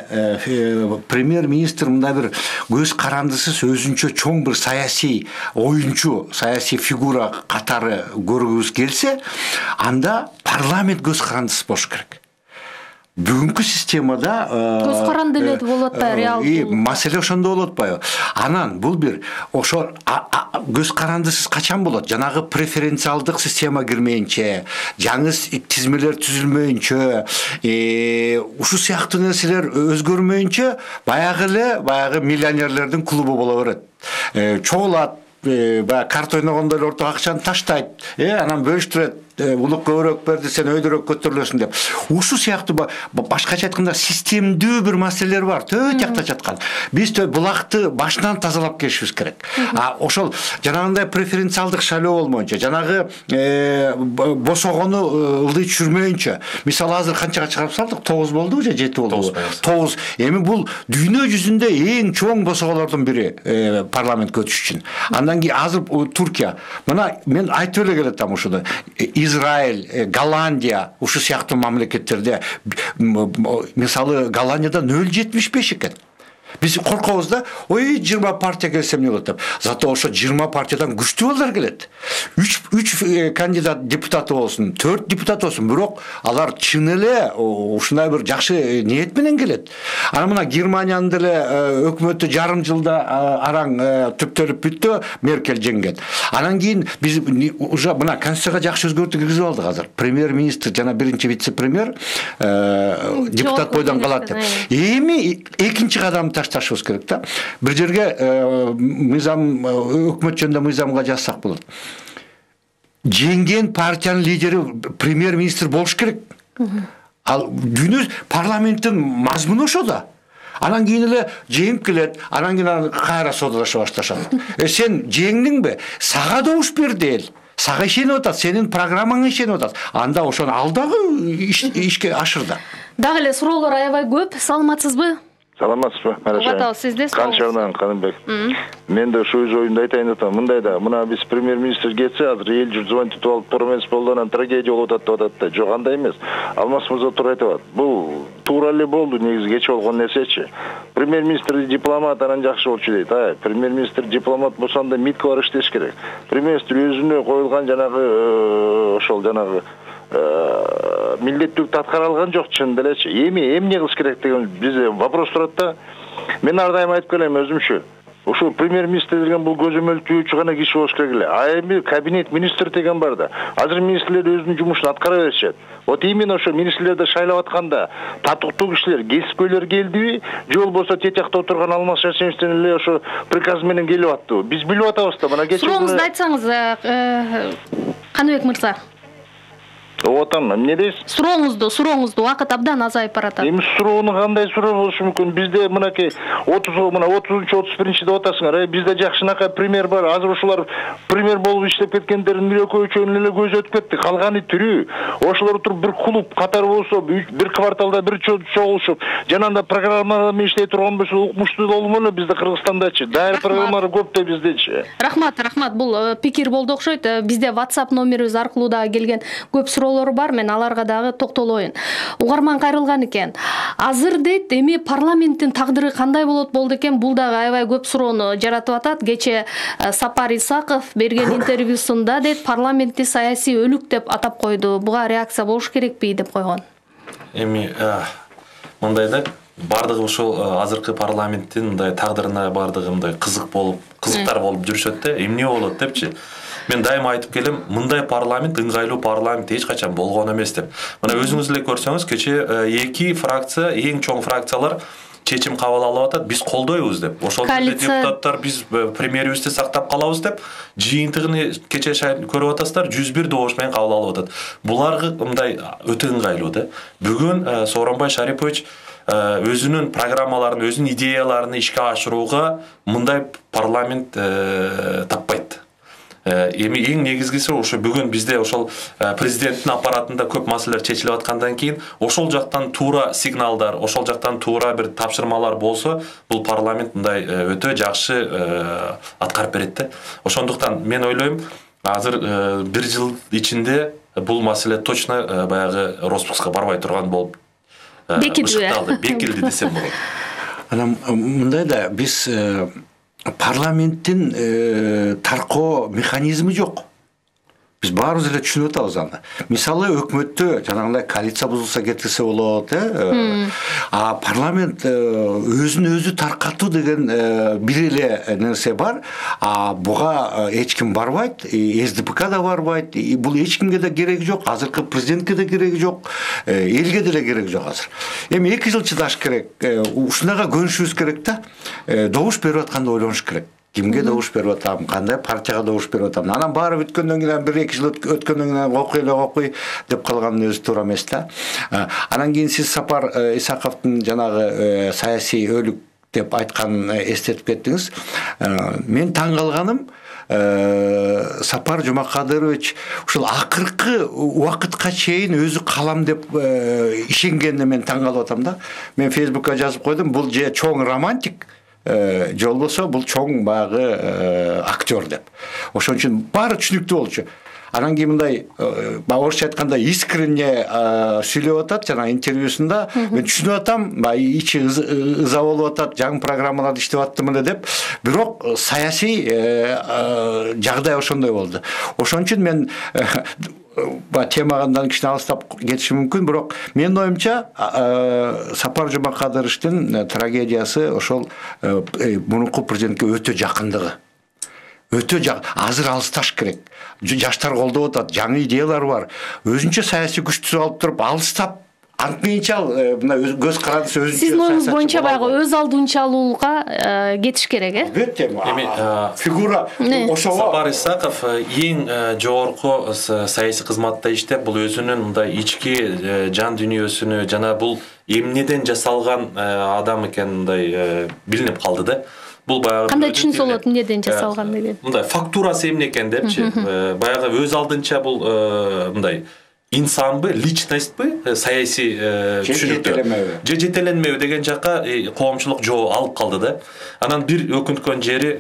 премьер-министр мындай бир көз карандысыз өзүнчө чоң бир саясий оюнчу, саясий фигура катары көргүбүз келсе, анда парламент көз карандысыз болуш керек. Бүгүнкү системада көз каранды эле болот атпайбы, реалдуу? Маселе ошондо болот атпайбы? Анан бул бир ошо көз карандысыз качан болот? Жанагы преференциалдык система кирмейинче, жаңы тизмелер түзүлмөйүнчө, ушул сыяктуу нерселер өзгөрмөйүнчө баягы миллионерлердин клубу боло берет. Чогулат, баягы карта ойногондой ортого акчаны таштайт, анан бөлүштүрөт. Улук көбүрөөк берди, сен өйдөрөөк көтөрүлөсүң деп. Ушул сыяктуу башкача айтканда системдүү бир маселелер бар, төт жакта жаткан. Биз булакты башынан тазалап келишибиз керек. Ошол жанагындай преференциалдык шайлоо болмоюнча, жанагы босогону ылдый түшүрмөйүнчө. Мисалы азыр канчага чыгарып салдык? 9 болдубу же 7 болдубу? 9. Эми бул дүйнө жүзүндө эң чоң босоголордун бири парламентке өтүш үчүн. Андан кийин азыр Туркия. Мына мен айтып эле келатам ушуну. Израиль, Голландия, ушул сыяктуу мамлекеттерде мисалы Голландияда 0,75 экен. Биз коркобуз да, 20 партия келсе эмне болот деп. Зато ошо 20 партиядан күчтүү балдар келет. 3 кандидат депутаты болсун, 4 депутат болсун, бирок алар чын эле ушундай бир жакшы ниет менен келет. Анан мына Германиянын деле өкмөтү жарым жылда араң түптөлүп бүттү, Меркель жеңген. Анан кийин биз уже мына конституцияга жакшы өзгөртүү киргизип алдык азыр. Премьер-министр жана биринчи вице-премьер депутат бойдон калат деп. Эми экинчи кадамды ташташыбыз керек да. Бир жерге мыйзам, өкмөт жөнүндө мыйзамга жазсак болот. Жеңген партиянын лидери премьер-министр болуш керек. Ал дүйнө парламенттин мазмуну ошо да. Анан кийин эле жеңип келет, анан кийин кайра содалаша башташат. Сен жеңдиңби? Сага добуш берди эл. Сага ишенип атат, сенин программаңа ишенип атат. Анда ошону ал дагы ишке ашырды. Дагы эле суроолор аябай көп. Саламатсызбы? Саламатсызбы? Угатабыз сизди. Канчарынан Канымбек. Мен да ошо өз оюмду айтайын деп атам. Мындай да, мына биз премьер-министр кетсе, азыр эл журт звонтип алып, туура эмес болду, анан трагедия болуп атат деп атат да. Жок, андай эмес. Алмаз мырза туура айтып атат. Бул туура эле болду, негизи кече болгон нерсечи. Премьер-министр дипломат, анан жакшы болчу дейт. Премьер-министр дипломат болсо анда МИДке барып иштеш керек. Премьер-министр өзүнө коюлган жанагы ошол жанагы милдеттүүлүктү аткара алган жок, чын делечи. Эмне кылыш керек деген бизде вопрос турат да. Мен ар дайым айтып келем өзүмчө. Ушул премьер-министр деген бул көзөмөлтүүчү гана киши болуш керек эле. Эми кабинет министр деген бар да. Азыр министрлер өзүнүн жумушун аткара беришет. Вот именно ошо министрлерди шайлап атканда татыктуу кишилер, кесипкөйлөр келдиби, же болбосо тет жакта отурган Алмаз Шаршеновден эле ошо приказ менен келип аттыбы? Биз билип атабыз да. Мына кечээ сурооңузду айтсаңыз, Каныбек мырза. Отам, эмне дейсиз? Сурооңузду убакыт абдан азайып баратат. Эми суроону кандай суроо болушу мүмкүн? Бизде мынакей 30-31-де атасыңар, бизде жакшынакай премьер бар. Азыр ушулар премьер болуп иштеп кеткендердин экөө-үчөөнүн эле көзү өтүп кетти. Калганы тирүү. Ошолор туруп бир клуб катары болсо, бир кварталда бир чогулушуп, жанагындай программалар менен иштей турган болсо, укмуштуу болмок эле бизде Кыргызстандачы. Дайыр программалар көп да биздечи. Рахмат. Бул пикир болду окшойт. Бизде WhatsApp номерибиз аркылуу да келген көп суроо суроолор бар, мен аларга дагы токтолоюн. Угарман кайрылган экен. Азыр дейт, эми парламенттин тагдыры кандай болду экен? Бул дагы аябай көп суроону жаратып атат. Кече Сапар Исаков берген интервьюсунда дейт, парламентти саясий өлүк деп атап койду. Буга реакция болуш керекпи деп койгон. Эми мындай да, бардыгы ошол азыркы парламенттин мындай тагдырына бардыгы мындай кызыктар болуп жүрүшөт да, эмне болот депчи. Мен дайыма айтып келем, мындай парламент, ыңгайлуу парламент эч качан болгон эмес деп. Мына өзүңүз эле көрсөңүз, кече эки фракция, эң чоң фракциялар чечим кабыл алып атат, биз колдойбуз деп. Ошол жерде депутаттар биз премьерибизди сактап калабыз деп, жыйынтыгын кече көрүп атасыздар, 101 добуш менен кабыл алып атат. Булар мындай өтө ыңгайлуу да. Бүгүн Сооронбай Шарипович өзүнүн программаларын, өзүнүн идеяларын ишке ашырууга мындай парламент таппайт. Эми эң негизгиси ошо бүгүн бизде ошол президенттин аппаратында көп маселелер чечилип аткандан кийин ошол жактан туура сигналдар, ошол жактан туура бир тапшырмалар болсо, бул парламент мындай өтө жакшы аткарып берет да. Ошондуктан мен ойлойм, азыр бир жыл ичинде бул маселе точно баягы распуска барбай турган болуп бекилди десем болот. Анан мындай да, биз парламенттин таркоо механизми жок. Биз баарыбыз эле түшүнүп атабыз аны. Мисалы өкмөттө жанагындай коалиция бузулса кетирсе болот, а парламент өзүн өзү таркатуу деген бир эле нерсе бар. А буга эч ким барбайт, СДПК да барбайт. Бул эч кимге да кереги жок, азыркы президентке да кереги жок, элге деле кереги жок азыр. Эми 2 жыл чыдаш керек. Ушунага көнүшүбүз керек да. Добуш берип атканда ойлонуш керек. Кимге добуш берип атам, кандай партияга добуш берип атам. Анан баары бүткөндөн кийин 1-2 жыл өткөндөн кийин окуй деп калгандын өзү туура эмес да. Анан кийин сиз Сапар Исаковдун жанагы саясий өлүк деп айтканын эстетип кеттиңиз. Мен таң калганым, Сапар Жумакадырович ушул акыркы убакытка чейин өзү калам деп ишенгенине мен таң калып атам да. Мен Фейсбукка жазып койдум, бул же чоң романтик, же болбосо бул чоң багы актер деп. Ошон үчүн баары түшүнүктүү болчу. Анан кийин мындай орусча айтканда искренне сүйлөп атат жана интервьюсунда. Мен түшүнүп атам, ичи ыза болуп атат, жаңы программаларды иштеп аттым эле деп. Бирок саясий жагдай ошондой болду. Ошон үчүн мен темадан кичине алыстап кетиши мүмкүн, бирок менин оюмча Сапар Жумакадыровдун трагедиясы ошол мурунку президентке өтө жакындыгы. Азыр алысташ керек. Жаштар колдоп атат, жаңы идеялар бар. Өзүнчө саясий күчтүү алып туруп алыстап антмейинчал мына көз карандысы өзүнчө. Сиздин оюңуз боюнча баягы өз алдынчалуулукка кетиш керек, Албетте. Эми фигура ошого Сапар Исаков эң жогорку саясий кызматта иштеп, бул өзүнүн мындай ички жан дүйнөсүнү жана бул эмнеден жасалган адам экени мындай билинип калды да. Бул баягы кандай түшүнсө болот, эмнеден жасалган деген. Мындай фактурасы эмне экен депчи. Баягы өз алдынча бул мындай инсанбы, личностьбы, саясий түшүнүктүү. Же жетеленмөө деген жакка коомчулук жооп алып калды да. Анан бир өкүнткөн жери,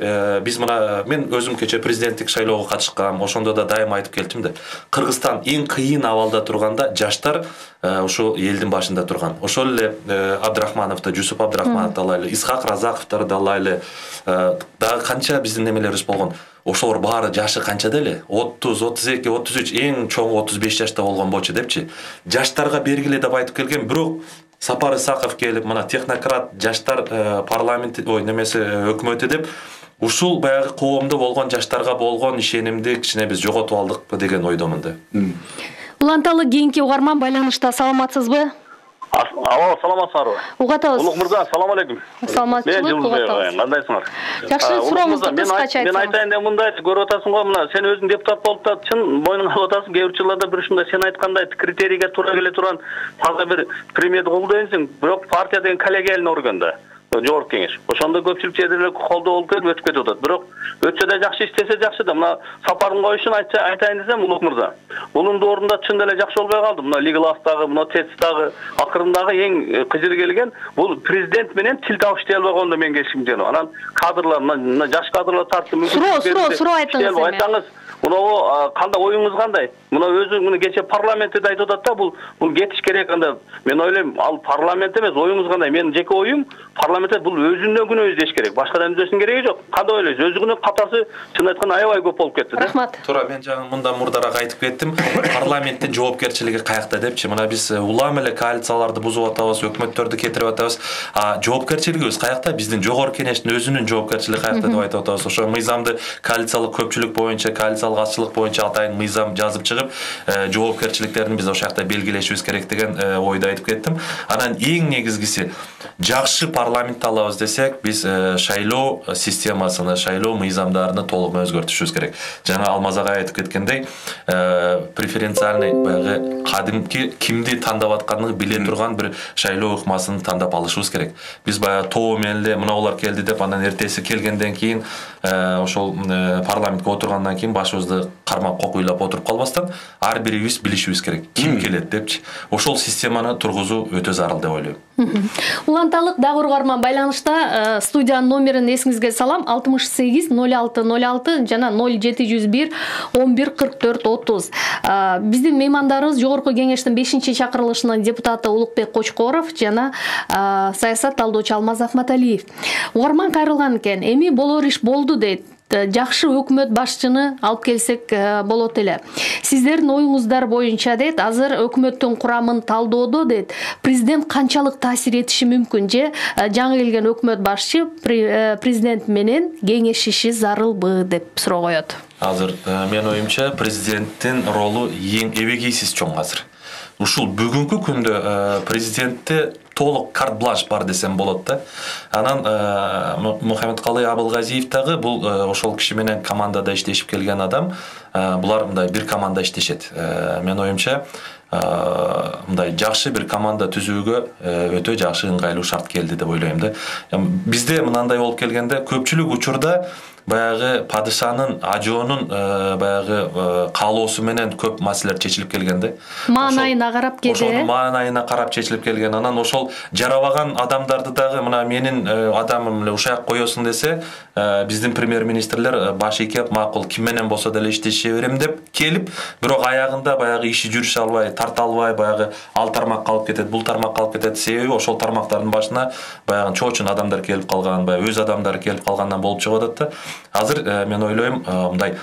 биз мына мен өзүм кече президенттик шайлоого катышкам, ошондо да дайыма айтып келдим да. Кыргызстан эң кыйын абалда турганда жаштар ошол элдин башында турган. Ошол эле Абдрахмановду, Жусуп Абдрахмановду алайлы, Исхак Разаковду алайлы, дагы канча биздин немелерибиз болгон. Ошолор баары жашы канчада эле? 30, 32, 33, эң чоң 35 жашта болгон болчу депчи. Жаштарга бергиле деп айтып келген, бирок Сапар Исаков келип, мына технократ жаштар парламент немеси өкмөтү деп, ушул баягы коомдо болгон жаштарга болгон ишенимди кичине биз жоготуп алдык деген ойдомун да. Уланталы кийинки угарман байланышта, саламатсызбы? Алло, саламатсыздарбы? Угатабыз. Улук мырза, салам алейкум. Саламатчылык, угатабыз. Кандайсыңар? Жакшы, сурооңузду кыскача айтсаңыз. Мен айтайын деп мындай көрүп атасың го, мына сен өзүң депутат болуп да чын мойнуңа алып атасың. Кээ бир жылдарда бир ушундай сен айткандай критерийге туура келе турган таза бир премьерди колдойсуң, бирок партия деген коллегияльный орган да. жогорку кеңеш. Ошондо көпчүлүк жерде эле колдоо болуп кетип өтүп кетип атат. Бирок өтсө да жакшы, иштесе жакшы да. Мына сапарын коюшун айтайын десем, Улук мырза. Бунун ордунда чын эле жакшы болбой калды. Мына Лигластагы, мына ТЭЦ-дагы акырындагы эң кыжыр келген бул президент менен тил табыштый албай калганда мен келишим жана. Анан кадрлар, мына жаш кадрлар тартып мүмкүн. Суроо айтыңыз. Мына кандай оюңуз кандай? Мына өзү мына кече парламентте айтып атат да, бул кетиш керек анда. Мен ойлойм, ал парламент эмес, оюңуз кандай? Менин жеке оюм, парламентте бул өзүнөн күнөө издеш керек. Башкадан издештин кереги жок. Кандай ойлойсуз? Өзүнүн катасы чын айтканда аябай көп болуп кетти да. Рахмат. Туура, мен жаңы мындан мурдараак айтып кеттим. Парламенттин жоопкерчилиги каякта депчи. Мына биз улам эле коалицияларды бузуп атабыз, өкмөттөрдү кетирип атабыз. Жоопкерчилигибиз каякта? Биздин жогорку кеңештин өзүнүн жоопкерчилиги каякта деп айтып атабыз. Ошо мыйзамды коалициялык көпчүлүк боюнча, коалициялык азчылык боюнча атайын мыйзам жазып чыгып, жоопкерчиликтерин биз ошол жакта белгилешибиз керек деген ойду айтып кеттим. Анан эң негизгиси жакшы парламент алабыз десек, биз шайлоо системасын, шайлоо мыйзамдарын толук өзгөртүшүбүз керек. Жана Алмаз агай айтып кеткендей, преференциальный баягы кадимки кимди тандап атканын биле турган бир шайлоо ыкмасын тандап алышыбыз керек. Биз баягы тоо менен эле мына олар келди деп, анан эртеси келгенден кийин ошол парламентке отургандан кийин башыбызды кармап кокуйлап отуруп калбастан, ар бирибиз билишибиз керек. Ким келет депчи. Ошол системаны тургузуу өтө зарыл деп ойлойм. Уланталык дагы угарман байланышта студиянын номерин эсиңизге салам: 68 06 06 жана 0701 11 44 30. Биздин меймандарыбыз жогорку кеңештин 5-чакырылышынын депутаты Улукбек Кочкоров жана саясат талдоочу Алмаз Ахматалиев. Угарман кайрылган экен. Эми болор иш болду дейт. Жакшы өкмөт башчыны алып келсек болот эле. Сиздердин оюңуздар боюнча дейт, азыр өкмөттүн курамын талдоодо дейт. Президент канчалык таасир этиши мүмкүн же жаңы келген өкмөт башчы президент менен кеңешиши зарылбы деп суроо коет. Азыр мен оюмча президенттин ролу эң эбегейсиз чоң азыр. Ушул бүгүнкү күндө президентте толук карт-бланш бар десем болот да. Анан Мухаммедкалый Абылгазиев дагы бул ошол киши менен командада иштешип келген адам. Булар мындай бир команда иштешет. Мен оюмча мындай жакшы бир команда түзүүгө өтө жакшы ыңгайлуу шарт келди деп ойлойм да. Бизде мынандай болуп келгенде көпчүлүк учурда баягы падышанын, ажоонун баягы каалоосу менен көп маселелер чечилип келгенде. Маанайына карап келди. Ошонун маанайына карап чечилип келген. Анан ошол жарабаган адамдарды дагы мына менин адамым эле ушак коесуң десе, биздин премьер-министрлер баш ийкеп, макул, ким менен болсо деле иштеше берем деп келип, бирок аягында баягы иши жүрүшө албай, тарта албай, баягы ал тармакка алып кетет, бул тармакка алып кетет. Себеби ошол тармактардын башына баягы чоочун адамдар келип калган, баягы өз адамдары келип калгандан болуп чыгып атат да. Азыр мен ойлойм, мындай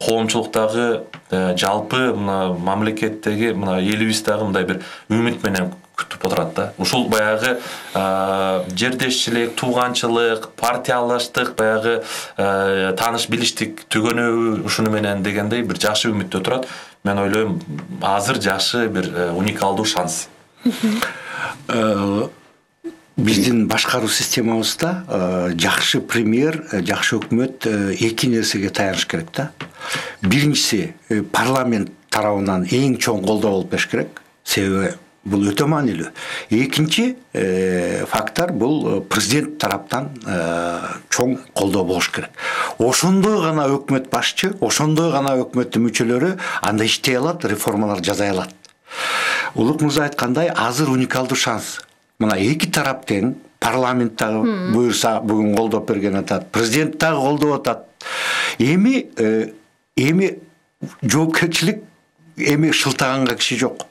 коомчулуктагы жалпы мына мамлекеттеги мына элибиздагы мындай бир үмүт менен күтүп отурат да. Ушул баягы жердешчилик, тууганчылык, партиялаштык, баягы тааныш билиштик түгөнөбү ушуну менен дегендей бир жакшы үмүттө турат. Мен ойлойм, азыр жакшы бир уникалдуу шанс. Биздин башкаруу системабызда жакшы премьер, жакшы өкмөт эки нерсеге таяныш керек да. Биринчиси, парламент тарабынан эң чоң колдоо болуп бериш керек. Себеби бул өтө маанилүү. Экинчи фактор бул президент тараптан чоң колдоо болуш керек. Ошондой гана өкмөт башчы, ошондой гана өкмөттүн мүчөлөрү анда иштей алат, реформалар жасай алат. Улук мырза айткандай, азыр уникалдуу шанс. Мына эки тарап тең, парламент дагы буюрса бүгүн колдоп берген атат, президент дагы колдоп атат. Эми жоопкерчилик, эми шылтаганга киши жок.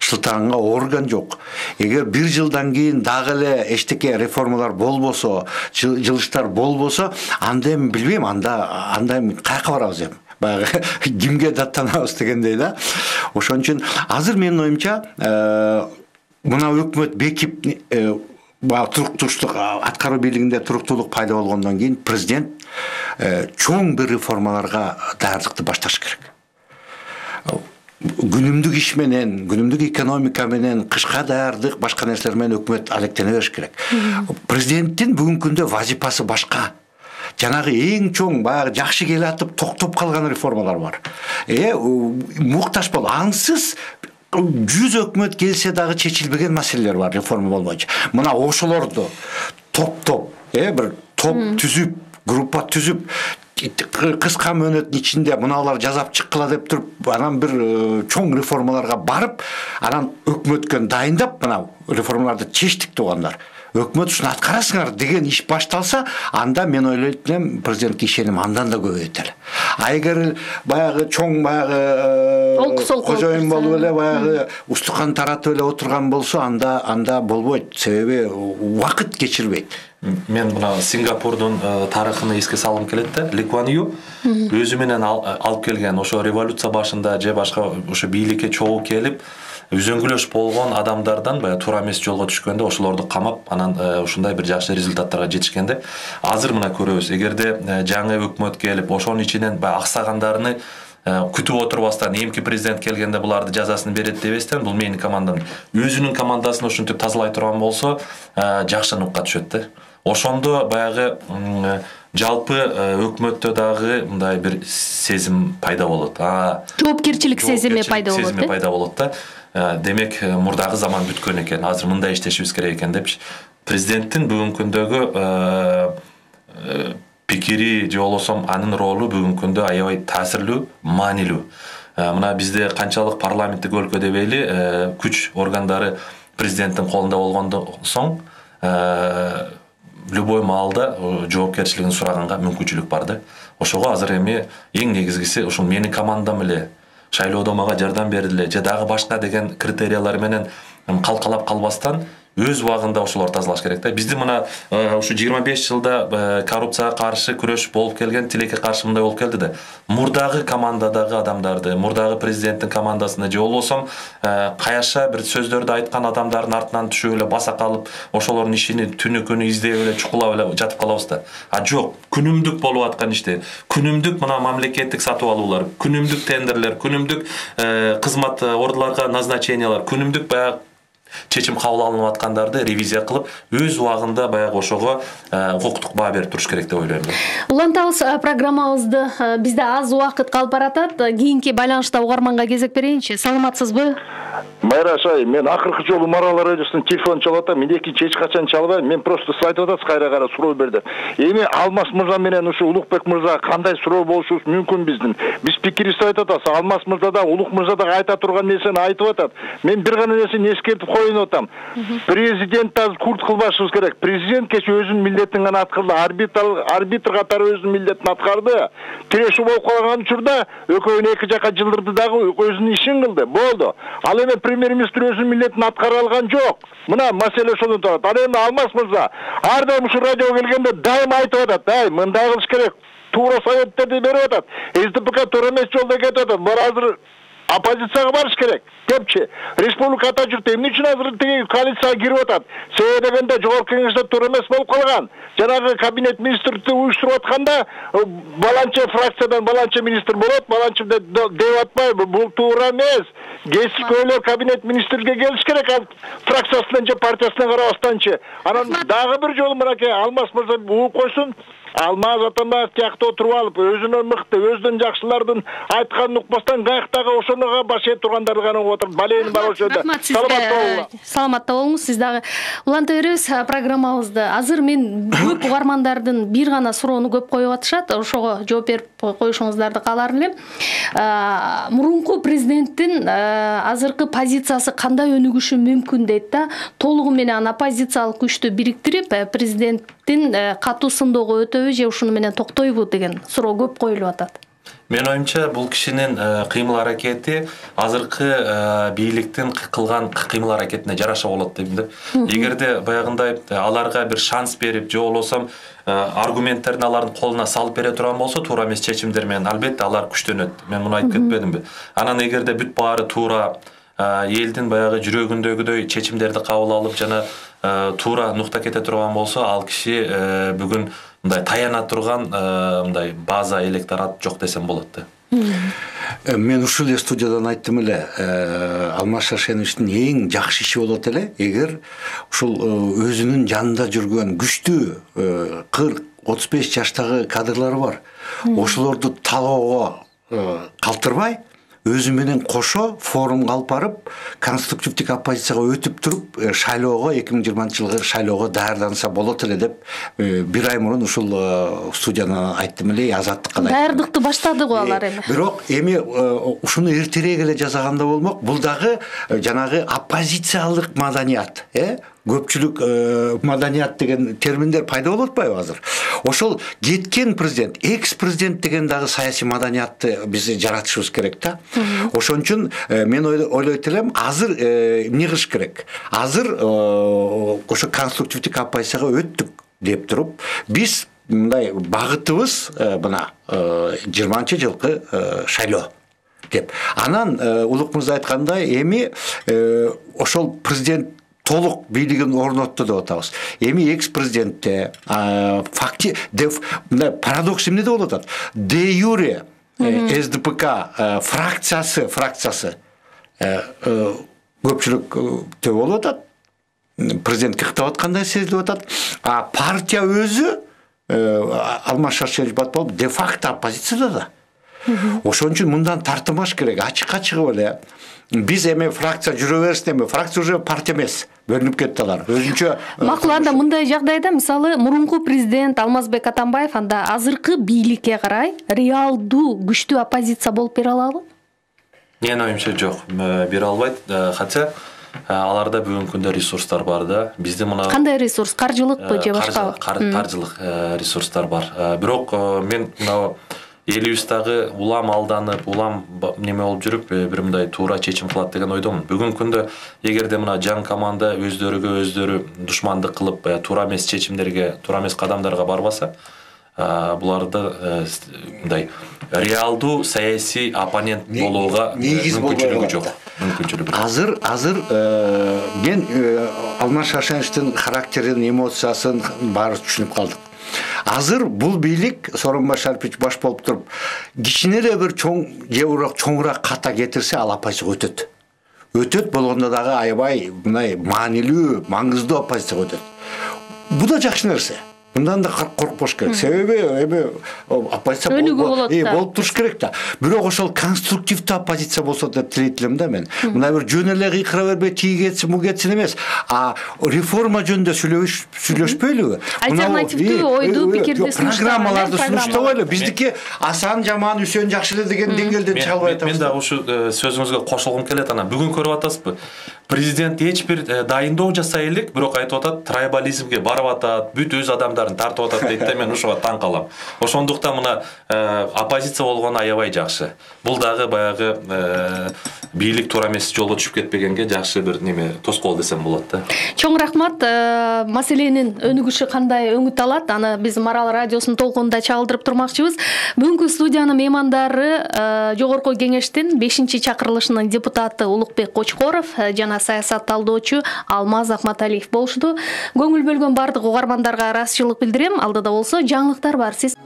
Шылтаганга орган жок. Эгер бир жылдан кийин дагы эле эчтеке реформалар болбосо, жылыштар болбосо, анда эми билбейм, анда эми каяка барабыз эми. Баягы кимге даттанабыз дегендей да. Ошон үчүн азыр менин оюмча мына өкмөт бекип туруктуулук аткаруу бийлигинде туруктуулук пайда болгондон кийин президент чоң бир реформаларга даярдыкты башташ керек. Күнүмдүк иш менен, күнүмдүк экономика менен, кышка даярдык, башка нерселер менен өкмөт алектене бериш керек. Президенттин бүгүнкү күндө вазипасы башка. Жанагы эң чоң баягы жакшы келе атып токтоп калган реформалар бар. Муктаж бол, аңсыз 100 өкмөт келсе дагы чечилбеген маселелер бар реформа болбойчу. Мына ошолорду топ бир топ түзүп, группа түзүп, кыска мөөнөттүн ичинде мыналар жазап чыккыла деп туруп, анан бир чоң реформаларга барып, анан өкмөткө дайындап, мына реформаларды чечтик туугандар. Өкмөт ушуну аткарасыңар деген иш башталса, анда мен ойлойт элем президентке ишеним андан да көбөйөт эле. А эгер баягы чоң кожоюн болуп эле баягы устукан таратып эле отурган болсо, анда болбойт. Себеби убакыт кечирбейт. Мен мына Сингапурдун тарыхын эске салгым келет да. Ли Куан Ю өзү менен алып келген ошо революция башында же башка ошо бийликке чогуу келип үзөңгүлөш болгон адамдардан баягы туура эмес жолго түшкөндө ошолорду камап, анан ушундай бир жакшы результаттарга жетишкенде, азыр мына көрөбүз. Эгерде жаңы өкмөт келип, ошонун ичинен баягы аксагандарны күтүп отурбастан эмки президент келгенде буларды жазасын берет дебестен, бул менин командам өзүнүн командасын ушинтип тазалай турган болсо, жакшы нукка түшөт да. Ошондо баягы жалпы өкмөттө дагы мындай бир сезим пайда болот. Жоопкерчилик сезими пайда болот да. Демек, мурдагы заман бүткөн экен, азыр мындай иштешибиз керек экен депчи. Президенттин бүгүнкү күндөгү пикири же болбосо анын ролу бүгүнкү күндө аябай таасирлүү, маанилүү. Мына бизде канчалык парламенттик өлкө дебейли, күч органдары президенттин колунда болгондон соң любой маалда жоопкерчилигин сураганга мүмкүнчүлүк бар да. Ошого азыр эми эң негизгиси ушул менин командам эле шайлоодо мага жардам бердиле же дагы башка деген критериялар менен калкалап калбастан өз убагында ошолор тазалаш керек да. Бизди мына ушу 25 жылда коррупцияга каршы күрөш болуп келген, тилекке каршы мындай болуп келди да. Мурдагы командадагы адамдарды, мурдагы президенттин командасына же болбосо каяша бир сөздөрдү айткан адамдардын артынан түшүп эле баса калып, ошолордун ишини түнү күнү издеп эле чукулап эле жатып калабыз да. Жок, күнүмдүк болуп аткан ишти, күнүмдүк мына мамлекеттик сатып алуулар, күнүмдүк тендерлер, күнүмдүк кызмат ордуларга назначениялар, күнүмдүк баягы чечим кабыл алынып аткандарды ревизия кылып, өз убагында баягы ошого укуктук баа берип туруш керек деп ойлойм. Улантабыз программабызды. Бизде аз убакыт калып баратат. Кийинки байланышта угарманга кезек берейинчи. Саламатсызбы? Майраш ай, мен акыркы жолу Марал радиосунун телефонун чалып атам. Мен экинчи эч качан чалбайм. Мен просто сиз айтып атасыз, кайра суроо берди. Эми Алмаз мырза менен ушу Улукбек мырзага кандай суроо болушубуз мүмкүн биздин? Биз пикирибизди айтып атабыз. Алмаз мырза да, Улук мырза да айта турган нерсени айтып атат. Мен бир гана нерсени эскертип коюн атам. Президент азыр курт кылбашыбыз керек. Президент кече өзүнүн милдетин гана аткарды, арбитр катары өзүнүн милдетин аткарды. Тирешүү болуп калган учурда экөөнү эки жака жылдырды дагы өзүнүн ишин кылды. Болду. Ал эми премьер-министр өзүнүн милдетин аткара алган жок. Мына маселе ошондон турат. Ал эми Алмаз мырза ар дайым ушу радиого келгенде дайым айтып атат, мындай кылыш керек. Туура советтерди берип атат. СДПК туура эмес жолдо кетип атат. Бар азыр оппозицияга барыш керек депчи. Республика ата жүртө эмне үчүн азыр тиги коалицияга кирип атат? Себеби дегенде жогорку кеңеште туура эмес болуп калган. Жанагы кабинет министрликти уюштуруп атканда баланча фракциядан баланча министр болот, баланча деп атпайбы? Бул туура эмес. Кесипкөйлөр кабинет министрге келиш керек, ал фракциясынан же партиясынан карабастанчы. Анан дагы бир жолу мынакей Алмаз мырза угуп койсун. Алмаз Атамбаев тиякта отуруп алып, өзүнөн мыкты, өзүнөн жакшылардын айтканын укпастан каяктагы ошонуга баш ээ тургандарды гана угуп отуруп, балени бар ошондо. Саламатта болуңуз. Сиз дагы уланта беребиз программабызды. Азыр мен көп угармандардын бир гана суроону көп коюп атышат. Ошого жооп берип коюшуңуздарды каалар элем. Мурунку президенттин азыркы позициясы кандай өнүгүшү мүмкүн дейт да. Толугу менен оппозициялык күчтү бириктирип, президенттин катуу сындоого өтөбү же ушуну менен токтойбу деген суроо көп коюлуп атат. Мен оюмча бул кишинин кыймыл аракети азыркы бийликтин кылган кыймыл аракетине жараша болот дейм да. Эгерде баягындай аларга бир шанс берип, же болбосо аргументтерин алардын колуна салып бере турган болсо, туура эмес чечимдер менен албетте алар күчтөнөт. Мен муну айтып кетпедимби? Анан эгерде бүт баары туура элдин баягы жүрөгүндөгүдөй чечимдерди кабыл алып жана туура нукта кете турган болсо, ал киши бүгүн мындай таяна турган мындай база электорат жок десем болот да. Мен ушул эле студиядан айттым эле, Алмаз Шаршеновичтин эң жакшы иши болот эле, эгер ушул өзүнүн жанында жүргөн күчтүү 40-35 жаштагы кадрлары бар. Ошолорду талоого калтырбай, өзү менен кошо форумга алып барып конструктивдик оппозицияга өтүп туруп шайлоого 2020 жылгы шайлоого даярданса болот эле деп бир ай мурун ушул студиядан айттым эле, Азаттыкка да. Даярдыкты баштады го алар эми. Бирок эми ушуну эртерээк эле жасаганда болмок. Бул дагы жанагы оппозициялык маданият, көпчүлүк маданият деген терминдер пайда болуп атпайбы азыр? Ошол кеткен президент, экс-президент деген дагы саясий маданиятты биз жаратышыбыз керек да. Ошон үчүн мен ойлойт элем, азыр эмне кылыш керек? Азыр ошо конструктивдик оппозицияга өттүк деп туруп, биз мындай багытыбыз мына 20-жылкы шайлоо деп. Анан Улук мырза айткандай, эми ошол президент толук бийлигин орнотту деп атабыз. Эми экс-президентте мындай парадокс эмнеде болуп атат? Де юре СДПК фракциясы көпчүлүк төп болуп атат. Президентке кыктап аткандай сезилип атат. А партия өзү Алмаз Шаршенович Батпалов де-факто оппозицияда да. Ошон үчүн мындан тартынбаш керек, ачыкка чыгып эле. Биз эми фракция жүрө берсин, эми фракция уже партия эмес, бөлүнүп кетти алар. Өзүнчө макул, анда мындай жагдайда мисалы мурунку президент Алмазбек Атамбаев анда азыркы бийликке карай реалдуу күчтүү оппозиция болуп бере алабы? Менин оюмча жок, бере албайт. Хотя аларда бүгүнкү күндө ресурстар бар да. Бизде мына кандай ресурс? Каржылыкпы же башкабы? Каржылык ресурстар бар. Бирок мен мына элибиздагы улам алданып, улам неме болуп жүрүп, бир мындай туура чечим кылат деген ойдомун. Бүгүнкү күндө эгерде мына жаңы команда өздөрү душмандык кылып, туура эмес чечимдерге, туура эмес кадамдарга барбаса, буларды мындай реалдуу саясий оппонент болууга мүмкүнчүлүгү жок. Азыр мен Алмаз Шаршеновичтин характерин, эмоциясын баары түшүнүп калдык. Азыр бул бийлик Сооронбай Шарипович баш болуп туруп, кичине эле бир чоңураак ката кетирсе, ал оппозицияга өтөт. Өтөт болгондо дагы аябай мындай маанилүү, маңыздуу оппозицияга өтөт. Бул да жакшы нерсе. Мындан да коркпош керек. Себеби эми оппозиция болуп туруш керек да. Бирок ошол конструктивдүү оппозиция болсо деп тилейт элем да мен. Мына бир жөн эле кыйкыра бербей, тиги кетсин, бу кетсин эмес, а реформа жөнүндө сүйлөшпөйлүбү? Альтернативдүү ойду, пикирди программаларды сунуштабайлы. Биздики Асан жаман, Үсен жакшы эле деген деңгээлден чыга албай атабыз. Мен да ушу сөзүңүзгө кошулгум келет. Ана бүгүн көрүп атасызбы? Президент эч бир дайындоо жасай элек, бирок айтып атат, трайбализмге барып атат, бүт өз адамдарын тартып атат дейт да, мен ушуга таң калам. Ошондуктан мына оппозиция болгону аябай жакшы. Бул дагы баягы бийлик туура эмес жолго түшүп кетпегенге жакшы бир неме тоскоол десем болот да. Чоң рахмат. Маселенин өнүгүшү кандай өңүт алат? Аны биз Марал радиосунун толкунунда чагылдырып турмакчыбыз. Бүгүнкү студиянын меймандары Жогорку Кеңештин 5-чакырылышынын депутаты Улукбек Кочкоров жана саясат талдоочу Алмаз Акматалиев болушту. Көңүл бөлгөн бардык угармандарга ыраазычылык билдирем. Алдыда болсо жаңылыктар бар. Сиз